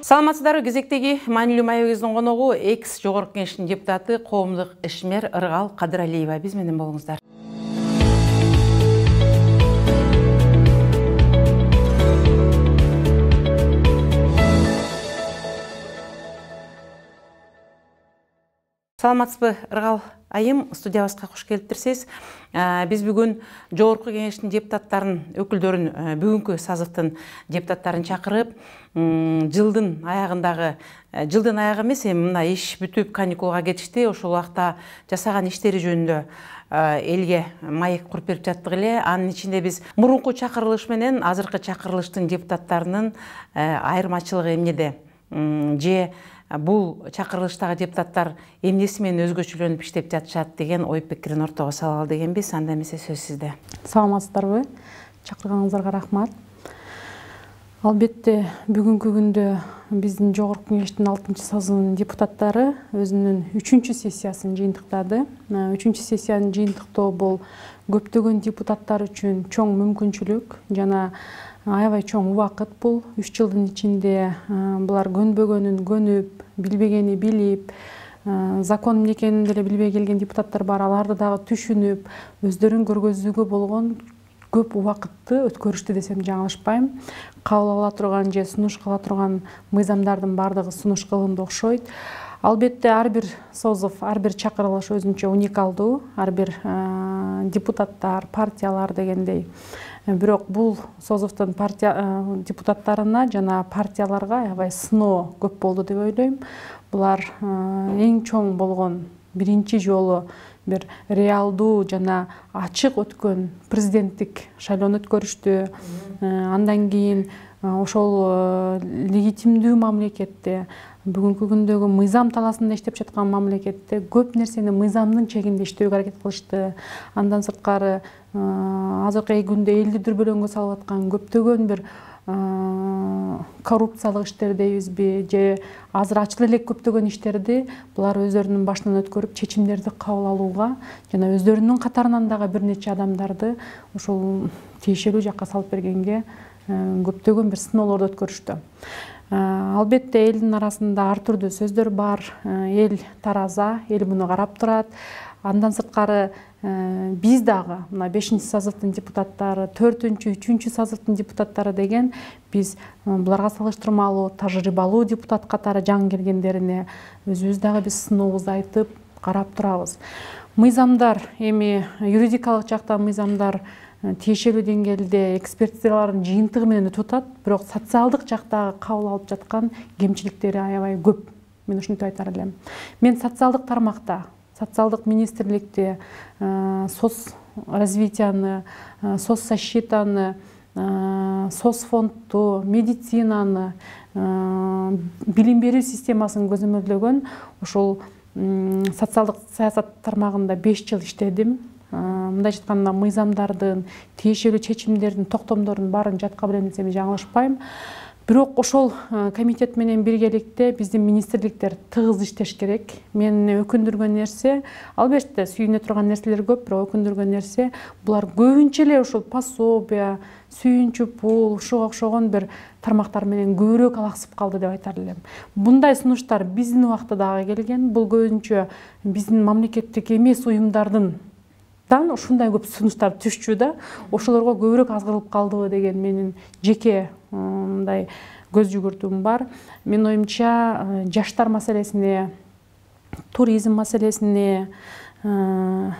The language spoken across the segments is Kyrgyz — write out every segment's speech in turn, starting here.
Саламатсыздарбы, кезектеги маанилүү маегибиздин коногу экс Жогорку Кеңештин депутаты, коомдук ишмер Ыргал Кадыралиева. Биз менен болуңуздар. Саламатсызбы, Ыргал айым, студиябызга кош келиптирсиз. Биз бүгүн Жогорку Кеңештин депутаттарын, өкүлдөрүн, бүгүнкү сазыктын депутаттарын чакырып, жылдын аягы эмес, мына иш бүтүп каникулга кетишти. Ошол убакта жасаган иштери жөнүндө элге маек куруп берип жаттык эле. Анын ичинде биз мурунку чакырылыш менен азыркы чакырылыштын депутаттарынын айырмачылыгы эмнеде? Же бул чакырылыштагы депутаттар эмнеси менен өзгөчөлөнүп иштеп жатышат деген ой пикирин ортого салалы дегенбиз. Анда эмесе сөз сизде. Саламатсыздарбы? Чакырганыңыздарга рахмат. Албетте бүгүнкү күндө биздин Жогорку Кеңештин 6-сазынын депутаттары өзүнүн 3-сессиясын жыйынтыктады. 3-сессияны жыйынтыктоо бул көптөгөн депутаттар үчүн чоң мүмкүнчүлүк жана аябай чоң убакыт. Бул 3 жылдын ичинде булар көнбөгөнүн көнүп, билбегени билип, закон эмне экенин деле билбей келген депутаттар бар. Аларды дагы түшүнүп, өздөрүн көргөзүүгө болгон көп убакытты өткөрүштү десем жаңылышпайм. Кабыл ала турган же сунуш кыла турган мыйзамдардын бардыгы сунуш кылынды окшойт. Албетте ар бир созов, ар бир чакырылыш өзүнчө уникалдуу, ар бир депутаттар, партиялар дегендей. Бирок бул созовдун депутаттарына жана партияларга аябай сыноо көп болду деп ойлойм. Булар эң чоң болгон биринчи жолу бир реалдуу жана ачык өткөн президенттик шайлоону өткөрүштү. Андан кийин ошол легитимдүү мамлекетте, бүгүнкү күндөгү мыйзам талаасында иштеп жаткан мамлекетте көп нерсени мыйзамдын чегинде иштөөгө аракет кылышты. Андан сырткары азыркы күндө элди дүрбөлөңгө салып аткан көптөгөн бир коррупциялык иштер дейбизби, же азыр ачык элек көптөгөн иштерди булар өздөрүнүн башынан өткөрүп, чечимдерди кабыл алууга жана өздөрүнүн катарынан дагы бир нече адамдарды ошол тиешелүү жакка салып бергенге көптөгөн бир сыноолорду өткөрүштү. Албетте элдин арасында ар түрдүү сөздөр бар. Эл тараза, эл муну карап турат. Андан сырткары биз дагы мына 5-сазыктын депутаттары, 4-, 3-сазыктын депутаттары деген биз буларга салыштырмалуу тажрыйбалуу депутат катары жаңы келгендерине өзүбүз дагы биз сынообузду айтып карап турабыз. Мыйзамдар эми юридикалык жактан мыйзамдар тиешелүү деңгээлде экспертизалардын жыйынтыгы менен өтүп атат, бирок социалдык жактагы кабыл алып жаткан кемчиликтери аябай көп. Мен ушинтип айтар элем. Мен социалдык тармакта, социалдык министрликте соц развитияны, соцзащитаны, соцфондду, медицинаны, билим берүү системасын көзөмөлдөгөн ошол социалдык саясат тармагында 5 жыл иштедим. Мындай айтканда мыйзамдардын, тиешелүү чечимдердин, токтомдордун баарын жатка билем десем жаңылышпайм. Бирок ошол комитет менен биргеликте биздин министрликтер тыгыз иштеш керек. Мени өкүндүргөн нерсе, албетте сүйүнө турган нерселер көп, бирок өкүндүргөн нерсе булар көбүнчө эле ошол пособия, сүйүнчү пул, ушуга окшогон бир тармактар менен көбүрөөк алаксып калды деп айтар элем. Мындай сунуштар биздин убакта дагы келген. Бул көбүнчө биздин мамлекеттик эмес уюмдардын ушундай көп сунуштар түшчү да, ошолорго көбүрөөк азгырылып калдыбы деген менин жеке мындай көз жүгүртүүм бар. Менин оюмча жаштар маселесине, туризм маселесине, келе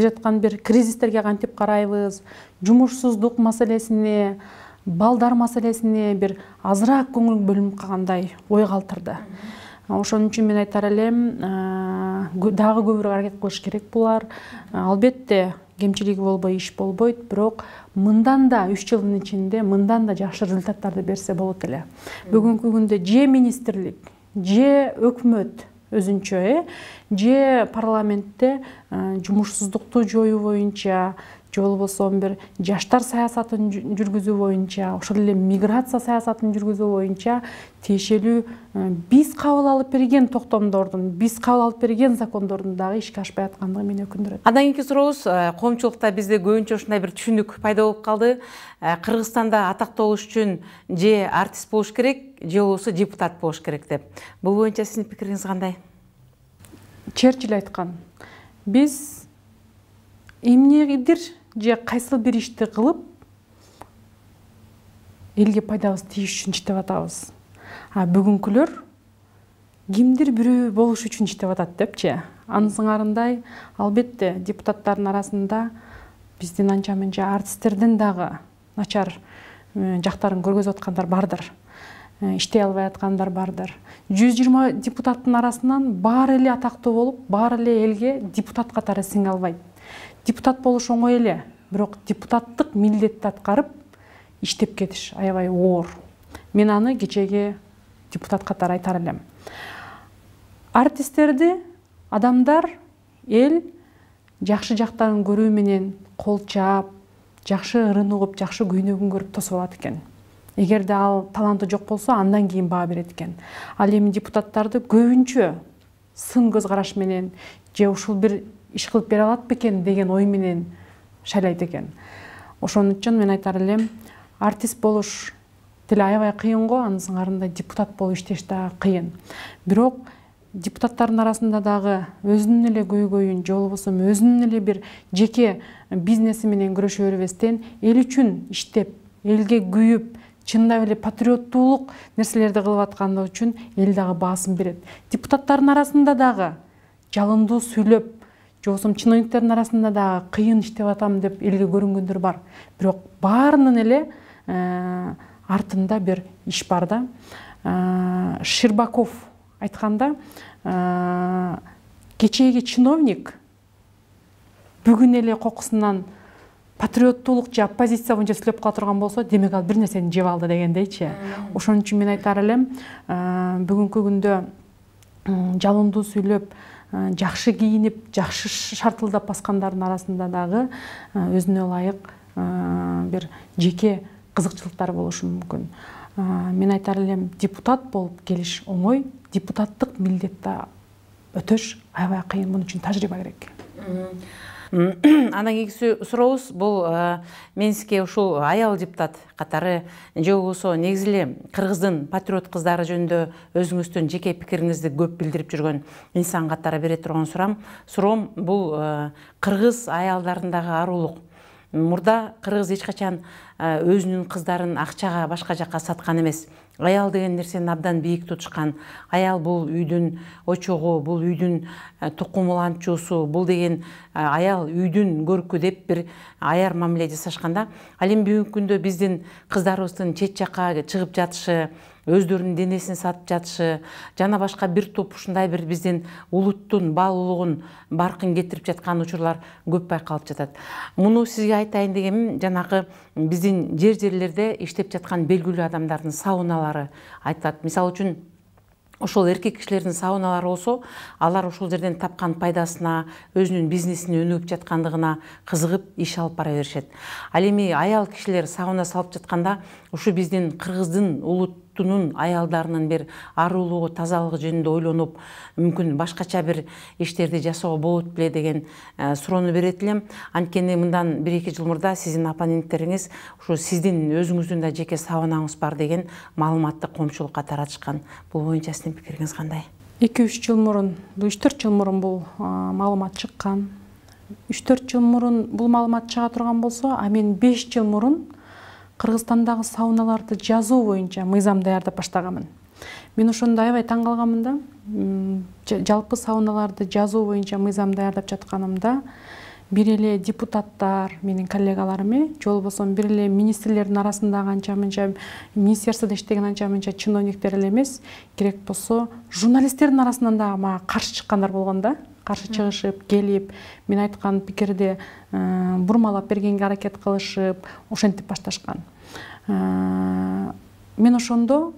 жаткан бир кризистерге кантип карайбыз, жумушсуздук маселесине, балдар маселесине бир азыраак көңүл бөлүнүп калгандай ой калтырды. Ошон үчүн мен айтар элем, дагы көбүрөөк аракет кылыш керек булар. Албетте кемчилиги болбой иш болбойт, бирок мындан да 3 жылдын ичинде мындан да жакшы результаттарды берсе болот эле. Бүгүнкү күндө же министрлик, же өкмөт өзүнчө, же парламентте жумушсуздукту жоюу боюнча же болбосо бир жаштар саясатын жүргүзүү боюнча, ошол эле миграция саясатын жүргүзүү боюнча тиешелүү биз кабыл алып берген токтомдордун, биз кабыл алып берген закондордун дагы ишке ашпай аткандыгы мени өкүндүрөт. Андан кийинки сурообуз, коомчулукта бизде көбүнчө ушундай бир түшүнүк пайда болуп калды. Кыргызстанда атактуу болуш үчүн же артист болуш керек, же болбосо депутат болуш керек деп. Бул боюнча сиздин пикириңиз кандай? Черчилль айткан, биз эмнедир же кайсыл бир ишти кылып элге пайдабыз тийиш үчүн иштеп атабыз. А бүгүнкүлөр кимдир бирөө болуш үчүн иштеп атат депчи. Анын сыңарындай, албетте депутаттардын арасында биздин анча мынча артисттерден дагы начар жактарын көргөзүп аткандар бардыр. Иштей албай аткандар бардыр. 120 депутаттын арасынан баары эле атактуу болуп, баары эле элге депутат катары сиңе албайт. Депутат болуш оңой эле, бирок депутаттык милдетти аткарып иштеп кетиш аябай оор. Мен аны кечеги депутат катары айтар элем. Артисттерди адамдар эл жакшы жактарын көрүү менен кол чаап, жакшы ырын угуп, жакшы көйнөгүн көрүп тосуп алат экен. Эгерде ал таланты жок болсо, андан кийин баа берет экен. Ал эми депутаттарды көбүнчө сын көз караш менен же ушул бир иш кылып бере алат бекен деген ой менен шайлайт экен. Ошон үчүн мен айтар элем, артист болуш деле аябай кыйын го, анын сыңарында депутат болуп иштеш дагы кыйын. Бирок депутаттардын арасында дагы өзүнүн эле көйгөйүн, же болбосо өзүнүн эле бир жеке бизнеси менен күрөшө бербестен, эл үчүн иштеп, элге күйүп, чындап эле патриоттуулук нерселерди кылып аткандыгы үчүн эл дагы баасын берет. Депутаттардын арасында дагы жалындуу сүйлөп, же болбосо чиновниктердин арасында дагы кыйын иштеп атам деп элге көрүнгөндөр бар. Бирок баарынын эле артында бир иш бар да. Щербаков айтканда, кечеги чиновник бүгүн эле кокусунан патриоттуулук же оппозиция боюнча сүйлөп кала турган болсо, демек ал бир нерсени жеп алды дегендейчи. Ошон үчүн мен айтар элем, бүгүнкү күндө жалындуу сүйлөп, жакшы кийинип, жакшы шартылдап баскандардын арасында дагы өзүнө ылайык бир жеке кызыкчылыктар болушу мүмкүн. Мен айтар элем, депутат болуп келиш оңой, депутаттык милдетти өтөш аябай кыйын, муну үчүн тажрыйба керек. Андан кийинки сурообуз бул мен сизге ушул аял депутат катары же болбосо негизи эле кыргыздын патриот кыздары жөнүндө өзүңүздүн жеке пикириңизди көп билдирип жүргөн инсан катары бере турган суроом бул кыргыз аялдарындагы арулук. Мурда кыргыз эч качан өзүнүн кыздарын акчага башка жакка саткан эмес. Аял деген нерсени абдан бийик тутушкан. Аял бул үйдүн очогу, бул үйдүн тукумуланчуусу, бул деген аял үйдүн көркү деп бир аяр мамиле жасашканда, ал эми бүгүнкү күндө биздин кыздарыбыздын чет жакка чыгып жатышы, өздөрүнүн денесин сатып жатышы, жана башка бир топ ушундай бир биздин улуттун баалуулугун баркын кетирип жаткан учурлар көп байкалып жатат. Муну сизге айтайын дегеним, жанагы биздин жерлерде иштеп жаткан белгилүү адамдардын сауналары айтылат. Мисалы үчүн ошол эркек кишилердин сауналары болсо, алар ошол жерден тапкан пайдасына, өзүнүн бизнесине өнүгүп жаткандыгына кызыгып иш алып бара беришет. Ал эми аял кишилер сауна салып жатканда, ушу биздин кыргыздын улуттунун аялдарынын бир арулугу, тазалыгы жөнүндө ойлонуп, мүмкүн башкача бир иштерди жасоого болот беле деген суроону берет элем. Анткени мындан 1-2 жыл мурда сиздин оппоненттериңиз ушу сиздин өзүңүздүн да жеке саунаңыз бар деген маалыматты коомчулукка таратышкан. Бул боюнча сиздин пикириңиз кандай? 2-3 жыл мурун, 3-4 жыл мурун бул маалымат чыккан. 3-4 жыл мурун бул маалымат чыга турган болсо, а мен 5 жыл мурун Кыргызстандагы сауналарды жазуу боюнча мыйзам даярдап баштаганмын. Мен ошондо аябай таң калганмын да. Жалпы сауналарды жазуу боюнча мыйзам даярдап жатканымда, бир эле депутаттар, менин коллегаларым, же болбосо бир эле министрлердин арасындагы анча-мынча министерстводо иштеген анча-мынча чиновниктер эле эмес, керек болсо журналисттердин арасынан дагы мага каршы чыккандар болгон да. Каршы чыгышып, келип, мен айткан пикирди бурмалап бергенге аракет кылышып, ошентип башташкан. Мен ошондо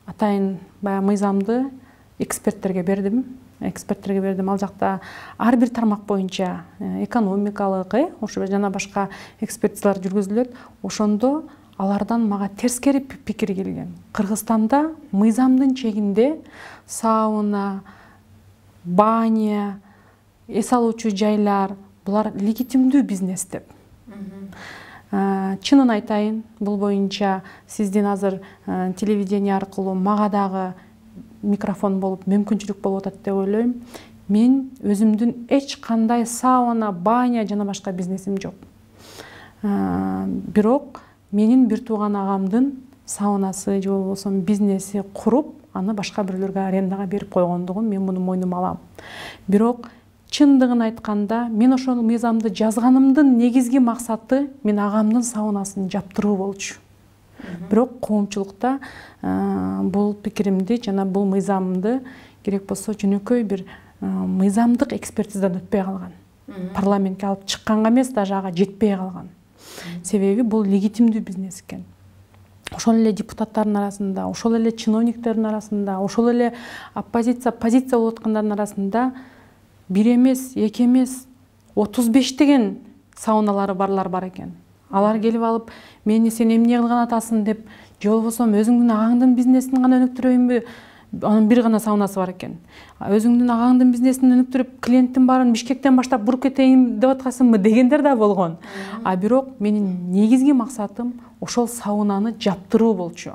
атайын баягы мыйзамды эксперттерге бердим. эксперттерге бердим. Ал жакта ар бир тармак боюнча экономикалык, ошо жана башка экспертизалар жүргүзүлөт. Ошондо алардан мага терскери пикир келген. Кыргызстанда мыйзамдын чегинде сауна, баня, эс алуучу жайлар булар легитимдүү бизнес деп. Чынын айтайын, бул боюнча сиздин азыр телевидение аркылуу мага дагы микрофон болуп мүмкүнчүлүк болуп атат деп ойлойм. Мен өзүмдүн эч кандай сауна, баня жана башка бизнесим жок. Бирок менин бир тууган агамдын саунасы же болбосо бизнеси куруп, аны башка бирлерге арендага берип койгондугун мен муну мойнума алам. Бирок чындыгын айтканда, мен ошол мыйзамды жазганымдын негизги максаты мен агамдын саунасын жаптыруу болчу. Бирок коомчулукта бул пикиримди жана бул мыйзамды керек болсо жөнөкөй бир мыйзамдык экспертизадан өтпөй калган. Парламентке алып чыкканга эмес, даже ага жетпей калган. Себеби бул легитимдүү бизнес экен. Ошол эле депутаттардын арасында, ошол эле чиновниктердин арасында, ошол эле позиция болуп аткандардын арасында бир эмес, эки эмес, 35 деген сауналары барлар бар экен. Алар келип алып, мени сен эмне кылган атасың деп, же болбосо өзүңдүн агаңдын бизнесин гана өнүктүрөйүнбү? Анын бир гана саунасы бар экен. Өзүңдүн агаңдын бизнесин өнүктүрүп, клиенттин баарын Бишкектен баштап буруп кетейин деп аткасыңбы дегендер да болгон. Бирок менин негизги максатым ошол саунаны жаптыруу болчу.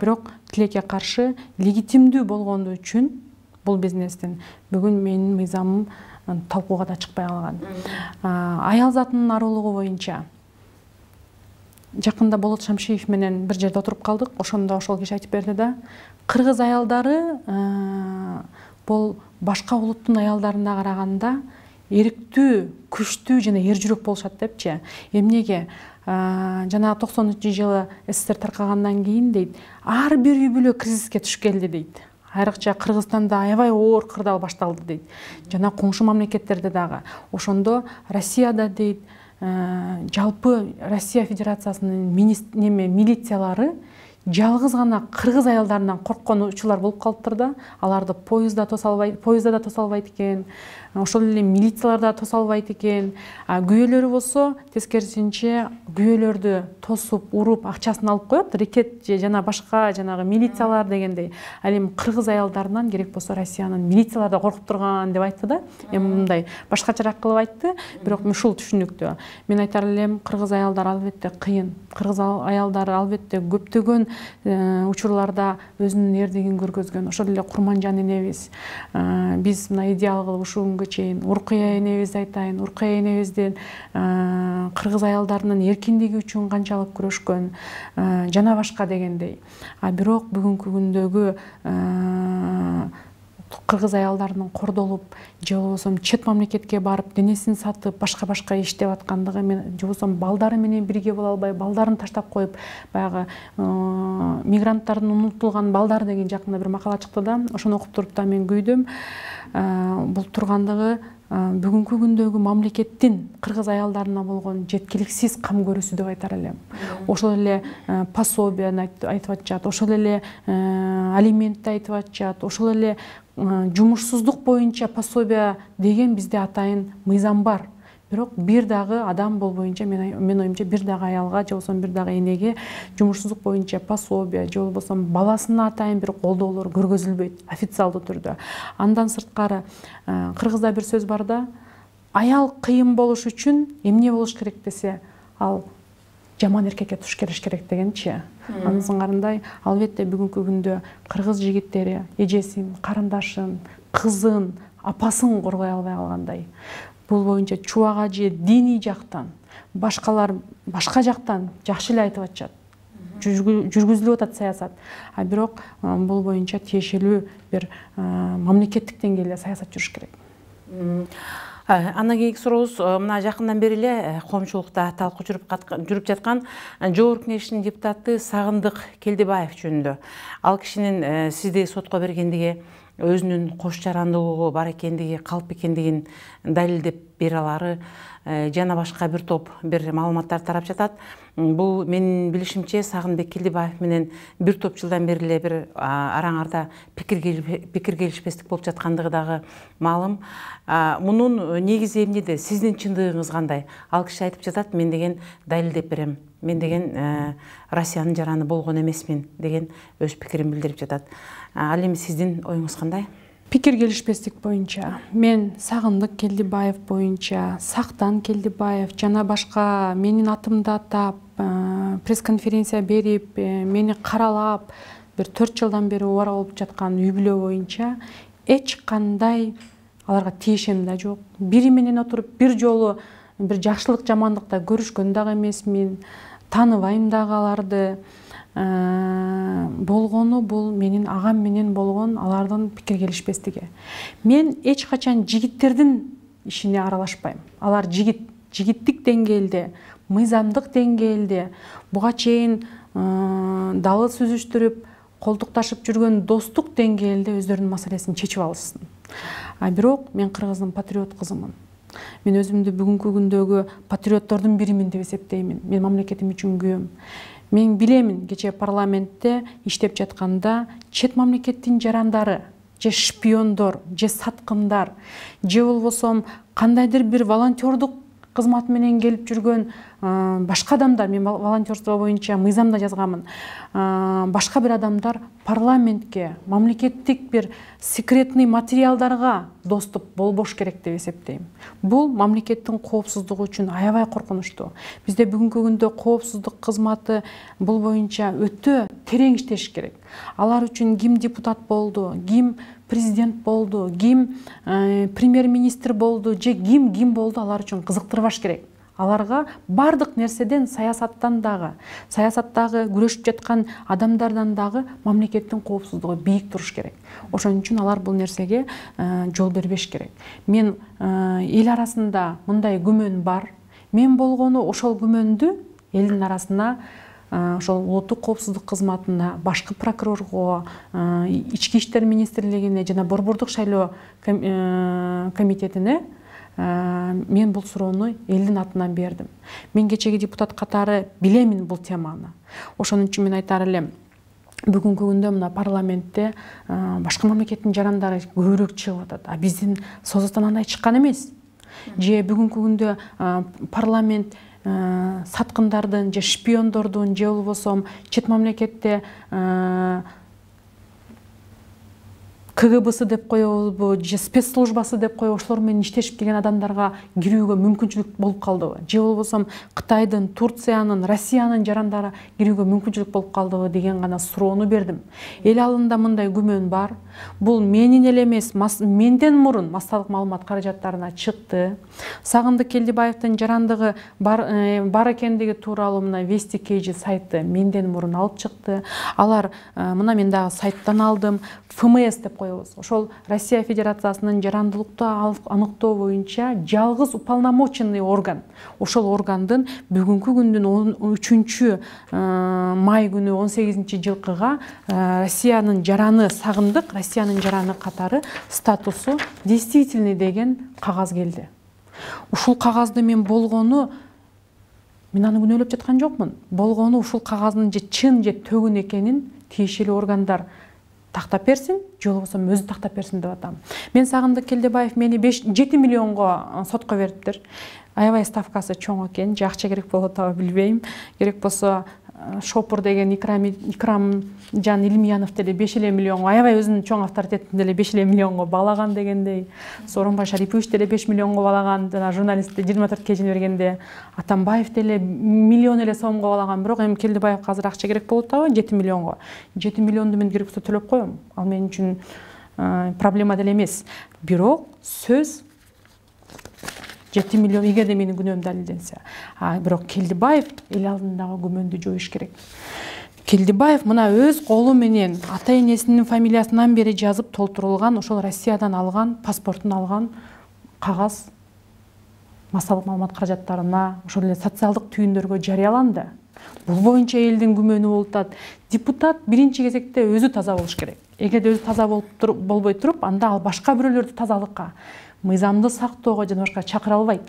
Бирок тилекке каршы легитимдүү болгонду үчүн бул бизнестин бүгүн менин мыйзамым талкууга да чыкпай калган. Аял затынын аруулугу боюнча жакында Болот Шамшиев менен бир жерде отуруп калдык. Ошондо ошол киши айтып берди да, кыргыз аялдары бул башка улуттун аялдарына караганда эрктүү, күчтүү жана эр жүрөк болушат депчи. Эмнеге? Жана 90-жылы СССР таркагандан кийин дейт, ар бир үй бүлө кризиске туш келди дейт. Айрыкча Кыргызстанда аябай оор кырдаал башталды дейт. Жана коңшу мамлекеттерде дагы. Ошондо Россияда дейт, жалпы Россия Федерациясынын милициялары жалгыз гана кыргыз аялдарынан корккон учурлар болуп калыптыр да. Аларды поездда да тоса албайт экен. Ошол эле милициялар да тоса албайт экен. Күйөөлөрү болсо тескерисинче күйөөлөрдү тосуп, уруп, акчасын алып коет. Рекет жана башка жанагы милициялар дегендей. Ал эми кыргыз аялдарынан керек болсо Россиянын милициялары да коркуп турган деп айтты да. Эми мындай башкачараак кылып айтты, бирок ушул түшүнүктүү. Мен айтар элем, кыргыз аялдар албетте кыйын. Кыргыз аялдары албетте көптөгөн учурларда өзүнүн эрдигин көргөзгөн. Ошол эле Курманжан энебиз, биз мына идеал кылып ушул күнгө чейин Уркуя энебизди айтайын. Уркуя энебиздин кыргыз аялдарынын эркиндиги үчүн канчалык күрөшкөн, жана башка дегендей. Бирок бүгүнкү күндөгү кыргыз аялдарынын кордолуп, же болбосо чет мамлекетке барып, денесин сатып, башка иштеп аткандыгы, же болбосо балдары менен бирге боло албай, балдарын таштап коюп, баягы мигранттардын унутулган балдар деген жакында бир макала чыкты да, ошону окуп туруп да мен күйдүм. Бул тургандыгы бүгүнкү күндөгү мамлекеттин кыргыз аялдарына болгон жеткиликсиз кам көрүүсү деп айтар элем. Ошол эле пособияны айтып атышат, ошол эле алиментти айтып атышат, ошол эле жумушсуздук боюнча пособия деген бизде атайын мыйзам бар. Бирок бир дагы адам болбоюнча, мен оюмча бир дагы аялга же болбосо бир дагы энеге жумушсуздук боюнча пособия же болбосо баласына атайын бир колдоолор көргөзүлбөйт официалдуу түрдө. Андан сырткары кыргызда бир сөз бар да, аял кыйын болуш үчүн эмне болуш керек десе, ал жаман эркекке туш келиш керек дегенчи. Анын сыңарындай албетте бүгүнкү күндө кыргыз жигиттери эжесин, карындашын, кызын, апасын коргой албай калгандай. Бул боюнча чубак ажы диний жактан, башкалар башка жактан жакшы эле айтып атышат. Жүргүзүлүп атат саясат. Бирок бул боюнча тиешелүү бир мамлекеттик деңгээлде саясат жүрүш керек. Андан кийинки сурообуз мына жакындан бери эле коомчулукта талкуу жүрүп жаткан Жогорку Кеңештин депутаты Сагындык Келдибаев жөнүндө. Ал кишинин сизди сотко бергендиги, өзүнүн кош жарандуулугу бар экендиги, калп экендигин далилдеп бере алары жана башка бир топ бир маалыматтар тарап жатат. Бул менин билишимче Сагынбек Келдибаев менен бир топ жылдан бери эле бир араңарда пикир келишпестик болуп жаткандыгы дагы маалым. Мунун негизи эмнеде? Сиздин чындыгыңыз кандай? Ал киши айтып жатат, мен деген далилдеп берем, мен деген Россиянын жараны болгон эмесмин деген өз пикирин билдирип жатат. Ал эми сиздин оюңуз кандай? Пикир келишпестик боюнча мен Сагындык Келдибаев боюнча, Сактан Келдибаев жана башка менин атымды атап пресс-конференция берип, мени каралап бир 4 жылдан бери убара болуп жаткан үй-бүлө боюнча эч кандай аларга тиешем да жок. Бири менен отуруп бир жолу бир жакшылык жамандыкта көрүшкөн дагы эмесмин, тааныбайм дагы аларды. Болгону бул менин агам менен болгон алардын пикир келишпестиги. Мен эч качан жигиттердин ишине аралашпайм. Алар жигиттик деңгээлде, мыйзамдык деңгээлде буга чейин далы сүзүштүрүп, колтукташып жүргөн достук деңгээлде өздөрүнүн маселесин чечип алышсын. Бирок мен кыргыздын патриот кызымын. Мен өзүмдү бүгүнкү күндөгү патриоттордун биримин деп эсептеймин. Мен мамлекетим үчүн күйөм. Мен билемин, кечээ парламентте иштеп жатканда чет мамлекеттин жарандары, же шпиондор, же саткындар, же болбосо кандайдыр бир волонтердук кызмат менен келип жүргөн башка адамдар, мен волонтерство боюнча мыйзамда жазганмын, башка бир адамдар парламентке, мамлекеттик бир секретный материалдарга доступ болбош керек деп эсептейм. Бул мамлекеттин коопсуздугу үчүн аябай коркунучтуу. Бизде бүгүнкү күндө коопсуздук кызматы бул боюнча өтө терең иштеш керек. Алар үчүн ким депутат болду, ким президент болду, ким премьер-министр болду, же ким болду, алар үчүн кызыктырбаш керек. Аларга бардык нерседен, саясаттан дагы, саясаттагы күрөшүп жаткан адамдардан дагы мамлекеттин коопсуздугу бийик туруш керек. Ошон үчүн алар бул нерсеге жол бербеш керек. Мен эл арасында мындай күмөн бар. Мен болгону ошол күмөндү элдин арасына, ошол улуттук коопсуздук кызматына, башкы прокурорго, ички иштер министрлигине жана борбордук шайлоо комитетине мен бул суроону элдин атынан бердим. Мен кечеги депутат катары билемин бул теманы. Ошон үчүн мен айтар элем, бүгүнкү күндө мына парламентте башка мамлекеттин жарандары көбүрөөк чыгып атат. Биздин созоттон андай чыккан эмес. Же бүгүнкү күндө парламент саткындардын же шпиондордун же болбосо чет мамлекетте КГБсы деп коебузбу же спецслужбасы деп коебу, ошолор менен иштешип келген адамдарга кирүүгө мүмкүнчүлүк болуп калдыбы? Же болбосо Кытайдын, Турциянын, Россиянын жарандары кирүүгө мүмкүнчүлүк болуп калдыбы деген гана суроону бердим. Эл алында мындай күмөн бар. Бул менин эле эмес, менден мурун массалык маалымат каражаттарына чыкты. Сагындык Келдибаевдин жарандыгы бар экендиги тууралуу мына Вести Кейджи сайты менден мурун алып чыкты. Алар мына мен дагы сайттан алдым. ФМС деп коебуз. Ошол Россия Федерациясынын жарандылыкты аныктоо боюнча жалгыз уполномоченный орган. Ошол органдын бүгүнкү күндүн 3 май күнү 18-жылкыга Россиянын жараны Сагындык, Россиянын жараны катары статусу действительный деген кагаз келди. Ушул кагазды мен болгону, мен аны күнөөлөп жаткан жокмун. Болгону ушул кагаздын же чын же төгүн экенин тиешелүү органдар тактап берсин, же болбосо өзү тактап берсин деп атам. Мен Сагындык Келдибаев мени 7 миллионго сотко бериптир. Аябай ставкасы чоң экен, же акча керек болот абы билбейм. Керек болсо Шопур деген Икрамжан Илмиянов деле 5 миллионго, аябай өзүнүн чоң авторитетин деле 5 миллионго баалаган дегендей. Сооронбай Шарипович деле 5 миллионго баалаган, жана журналистте 24 кежин бергенде Атамбаев деле миллион эле сомго баалаган. Бирок эми Келдибаевга азыр акча керек болот абы 7 миллионго. 7 миллионду мен керек болсо төлөп коем. Ал мен үчүн проблема деле эмес. Бирок сөз 7 миллион эгерде менин күнөөм далилденсе. Бирок Келдибаев эл алдындагы күмөндү жоюш керек. Келдибаев мына өз колу менен ата энесинин фамилиясынан бери жазып толтурулган, ошол Россиядан алган, паспортун алган кагаз массалык маалымат каражаттарына, ошол эле социалдык түйүндөргө жарыяланды. Бул боюнча элдин күмөнү болуп атат. Депутат биринчи кезекте өзү таза болуш керек. Эгерде өзү таза болбой туруп, анда ал башка бирөөлөрдү тазалыкка, мыйзамды сактоого жана башка чакыра албайт.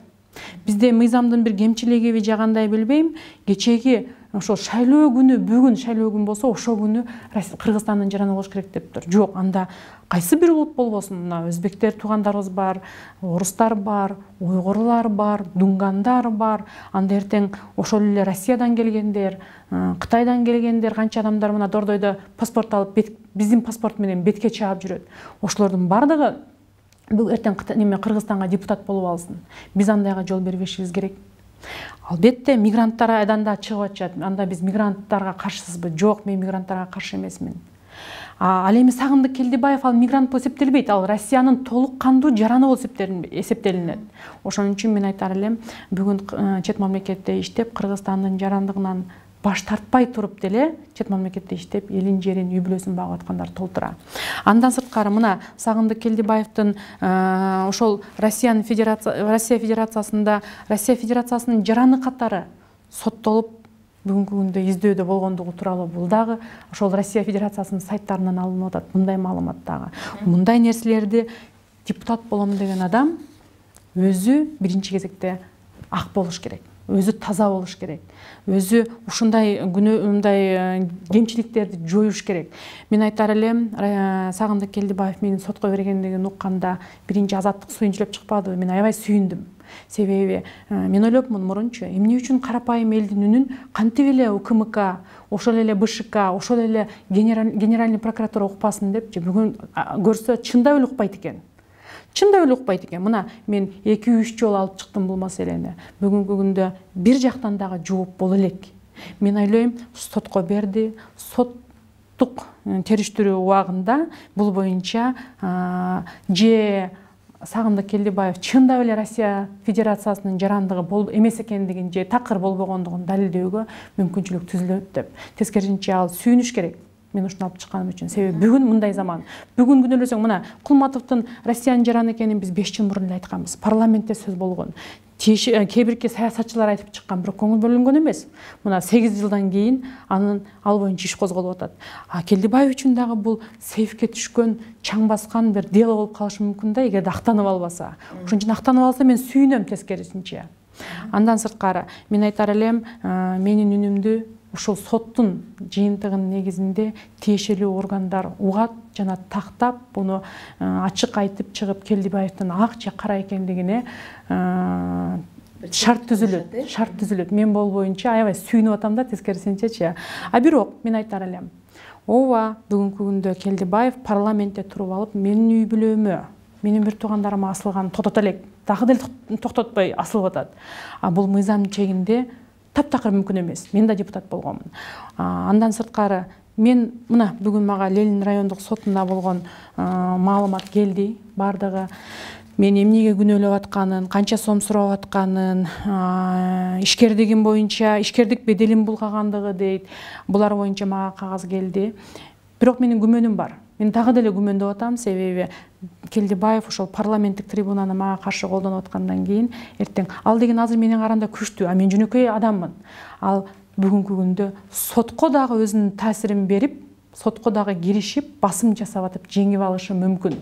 Бизде мыйзамдын бир кемчилигиби же кандай билбейм, кечеги ошол шайлоо күнү, бүгүн шайлоо күн болсо ошол күнү Кыргызстандын жараны болуш керек дептир. Жок, анда кайсы бир улут болбосун, мына өзбектер туугандарыбыз бар, орустар бар, уйгурлар бар, дунгандар бар, анда эртең ошол эле Россиядан келгендер, Кытайдан келгендер, канча адамдар мына Дордойдо паспорт алып, биздин паспорт менен бетке чаап жүрөт. Ошолордун бардыгы эртең Кыргызстанга депутат болуп алсын. Биз андайга жол бербешибиз керек. Албетте мигранттар айдан да чыгып атышат. Анда биз мигранттарга каршысызбы? Жок, мен мигранттарга каршы эмесмин. Ал эми Сагындык Келдибаев ал мигрант болуп эсептелбейт. Ал Россиянын толук кандуу жараны болуп эсептелинет. Ошон үчүн мен айтар элем, бүгүн чет мамлекетте иштеп, Кыргызстандын жарандыгынан баш тартпай туруп деле чет мамлекетте иштеп, элин жерин, үй бүлөсүн багып аткандар толтура. Андан сырткары мына Сагындык Келдибаевдин ошол Россия Федерациясында Россия Федерациясынын жараны катары соттолуп бүгүнкү күндө издөөдө болгондугу тууралуу бул дагы ошол Россия Федерациясынын сайттарынан алынып атат. Мындай маалымат дагы. Мындай нерселерди депутат болом деген адам өзү биринчи кезекте ак болуш керек. Өзү таза болуш керек. Өзү ушундай кемчиликтерди жоюш керек. Мен айтар элем, Сагындык Келдибаев менин сотко бергендигин укканда биринчи азаттык сүйүнчүлөп чыкпадыбы? Мен аябай сүйүндүм. Себеби мен ойлопмун мурунчу, эмне үчүн карапайым элдин үнүн кантип эле УКМК, ошол эле БШК, ошол эле Генеральный прокуратура укпасын депчи, бүгүн көрсө чындап эле укпайт экен. Чындап эле укпайт экен. Мына мен 2-3 жолу алып чыктым бул маселени. Бүгүнкү күндө бир жактан дагы жооп боло элек. Мен ойлойм, сотко берди, соттук териштирүү убагында бул боюнча же Сагындык Келдибаев чындап эле Россия Федерациясынын жарандыгы эмес экендигин же такыр болбогондугун далилдөөгө мүмкүнчүлүк түзүлөт деп. Тескерисинче ал сүйүнүш керек. Мен ушуну алып чыкканым үчүн. Себеби бүгүн мындай заман. Бүгүн күнөөлөсөң, мына Кулматовдун Россиянын жараны экенин биз 5 жыл мурун эле айтканбыз. Парламентте сөз болгон. Кээ бирки саясатчылар айтып чыккан, бирок көңүл бөлүнгөн эмес. Мына 8 жылдан кийин ал боюнча иш козголуп атат. Келдибаев үчүн дагы бул сейфке түшкөн, чаң баскан бир дело болуп калышы мүмкүн да, эгерде актанып албаса. Ошон үчүн актанып алса мен сүйүнөм тескерисинче. Андан сырткары мен айтар элем, менин үнүмдү ушул соттун жыйынтыгынын негизинде тиешелүү органдар угат жана тактап, буну ачык айтып чыгып, Келдибаевдин ак же кара экендигине шарт түзүлөт. Мен бул боюнча аябай сүйүнүп атам да, тескерисинчечи. Бирок мен айтар элем, ооба, бүгүнкү күндө Келдибаев парламентте туруп алып, менин үй бүлөмө, менин бир туугандарыма асылган токтото элек, дагы деле токтотпой асылып атат. Бул мыйзам чегинде таптакыр мүмкүн эмес. Мен да депутат болгонмун. Андан сырткары мен мына бүгүн мага Ленин райондук сотунда болгон маалымат келди. Бардыгы мен эмнеге күнөөлөп атканын, канча сом сурап атканын, ишкердигим боюнча, ишкердик беделин булгагандыгы дейт. Булар боюнча мага кагаз келди. Бирок менин күмөнүм бар. Мен дагы деле күмөндөп атам, себеби Келдибаев ошол парламенттик трибунаны мага каршы колдонуп аткандан кийин эртең ал деген азыр менин карамда күчтүү, мен жөнөкөй адаммын. Ал бүгүнкү күндө сотко дагы өзүнүн таасирин берип, сотко дагы киришип, басым жасап атып жеңип алышы мүмкүн.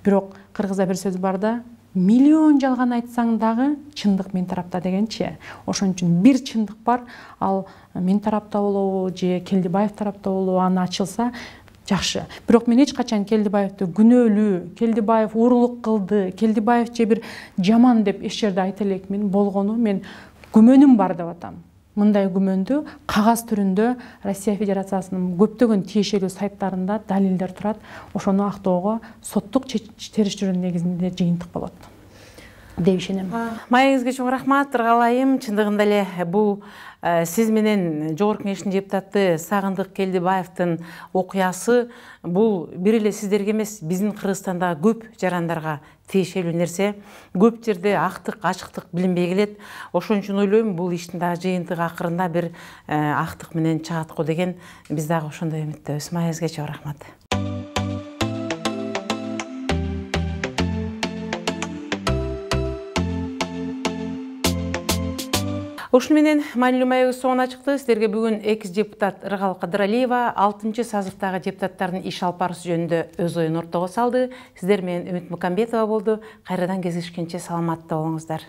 Бирок кыргызда бир сөз бар да, миллион жалган айтсаң дагы чындык мен тарапта дегенчи. Ошон үчүн бир чындык бар, ал мен тарапта болобу же Келдибаев тарапта болобу, аны ачылса жакшы. Бирок мен эч качан Келдибаевди күнөөлүү, Келдибаев уурулук кылды, Келдибаев же бир жаман деп эч жерде айта элекмин. Болгону мен күмөнүм бар деп атам. Мындай күмөндү кагаз түрүндө Россия Федерациясынын көптөгөн тиешелүү сайттарында далилдер турат. Ошону актоого соттук териштирүүнүн негизинде жыйынтык болот деп ишенем. Маегиңизге чоң рахмат, ыргалайым. Чындыгында эле бул сиз менен Жогорку Кеңештин депутаты Сагындык Келдибаевдин окуясы бул бир эле сиздерге эмес, биздин Кыргызстанда көп жарандарга тиешелүү нерсе. Көп жерде актык, ачыктык билинбей келет. Ошон үчүн ойлойм, бул иштин дагы жыйынтыгы акырында бир актык менен чыгат го деген биз дагы ошондой үмүттөбүз. Маегиңизге чоң рахмат. Ушуну менен маанилүү маегибиз соңуна чыкты. Сиздерге бүгүн экс депутат Ыргал Кадыралиева 6-сазыктагы депутаттардын иш алып барышы жөнүндө өз оюн ортого салды. Сиздер менен Үмүт Мукамбетова болду. Кайрадан кездешкенче саламатта болуңуздар.